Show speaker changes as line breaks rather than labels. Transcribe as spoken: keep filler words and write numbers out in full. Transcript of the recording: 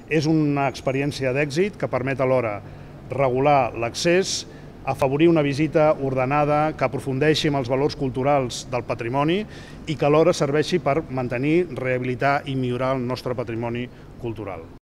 És una experiència d'èxit que permet alhora regular l'accés, afavorir una visita ordenada que aprofundeixi en els valors culturals del patrimoni i que alhora serveixi per mantenir, rehabilitar i millorar el nostre patrimoni cultural.